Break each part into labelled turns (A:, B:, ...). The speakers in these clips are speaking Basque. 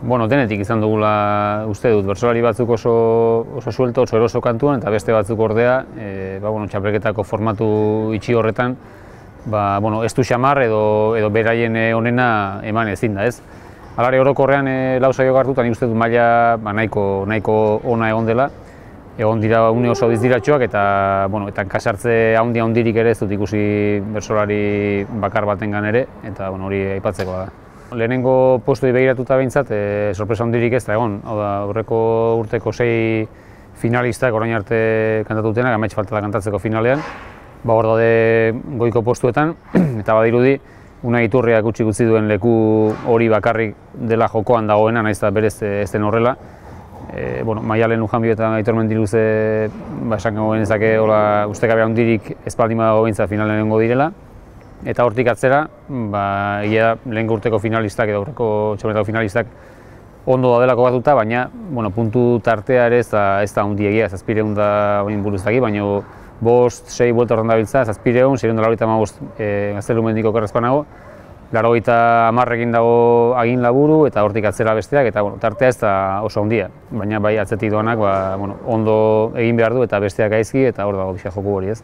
A: Bueno, denetik izan dugula uste dut, bertsolari batzuk oso suelto, oso eroso kantuan, eta beste batzuk ordea, txapelketako formatu itxi horretan, ez du xamar edo beraien onena eman ezin da, ez? Alare orokorrean lau saio hartu, eta nik uste dut maila nahiko ona egon dela. Egon dira une oso dizdiratxoak eta kasartze handirik ere ez dut ikusi bertsolari bakar batengan ere, eta hori aipatzeko da. Lehenengo postuei begiratuta behintzat, sorpresa handirik ez da egon. Hau da, aurreko urteko 6 finalistak orain arte kantatu dutenak, amets falta da kantatzeko finalean. Hor daude goiko postuetan, eta badirudi, Unai Iturriak utzi duen leku hori bakarrik dela jokoan dagoena, nahiz eta berez ez den horrela. Maialen Lujanbio eta Aitor Mendiluze esan genezake ustekabe handirik ez baldin badago behintzat finalean egongo direla. Eta hortik atzera, lehengo urteko finalistak edo aurreko txapelketako finalistak ondo daudelako batuta, baina puntu tartea ere ez da handiegia, 700 da bain buruz daki, baina 5-6 buelta horren dabiltza, 700, 695 Gaztelumendiko okerrezpanago, 80 dago agin laburu eta hortik atzera besteak, eta tartea ez da oso handia, baina bai atzetik doanak ondo egin behar du eta besteak gaizki, eta hor dago pixka joku hori ez.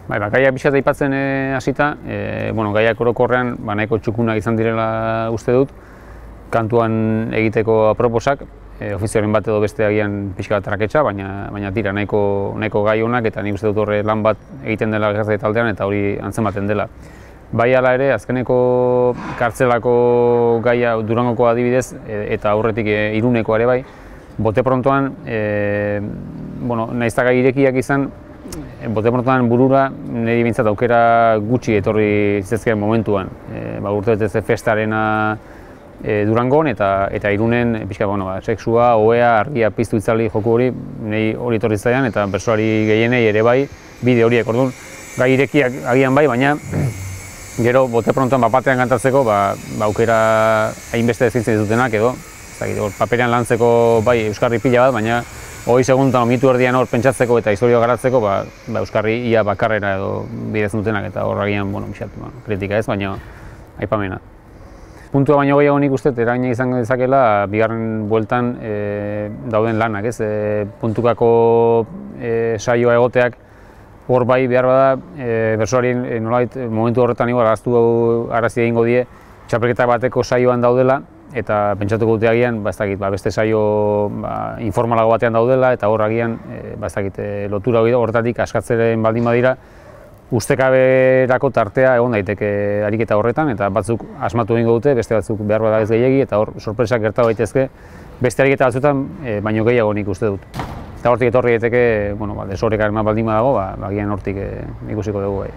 A: Gaiak pixka aipatzen hasita, gaiak orokorrean nahiko txukunak izan direla uste dut, kantuan egiteko aproposak, ofizioaren bat edo beste agian pixka traketsa, baina tira nahiko gai honak eta nik uste dut horre lan bat egiten dela gertate taldean eta hori antzematen dela. Bai hala ere, azkeneko kartzelako gaia Durangoko adibidez eta aurretik Iruneko ere bai, bote prontoan, nahiz eta gai irekiak izan, bote prontoan burura niri bintzat aukera gutxi etorri zizkien momentuan. Urtebetez festarena Durangon eta Irunen sexua, ohea, argia piztu itzali joku hori, niri hori etorri zaian eta bertsolari gehienei ere bai, bide horiek orduan. Gai irekiak agian bai, baina gero bote prontoan batean kantatzeko aukera hainbeste ezintzen ditutenak edo paperean lantzeko bai euskarri pila bat, baina 20 segundan mitu erdian hor pentsatzeko eta historia garatzeko euskarri ia bakarrera edo bidezen dutenak eta hor agian kritika ez, baina aipamena. Puntua baino gehiago nik uste eragina izango dezakela bigarren bueltan dauden lanak ez, puntukako saioa egoteak hor bai behar bada bertsolarien nolabait momentu horretan arazi egingo die txapelketa bateko saioan daudela eta pentsatuko dute agian beste saio informalago batean daudela eta hor agian lotura horretatik askatzeren baldin badira ustekaberako tartea egon daiteke ariketa horretan eta batzuk asmatu egingo dute, beste batzuk behar bada ez gehiegi eta hor sorpresak gerta daitezke beste ariketa batzuetan baino gehiago nik uste dut. Eta hortik etorri daiteke, desoreka baldin badago, agian hortik ikusiko dugu bai.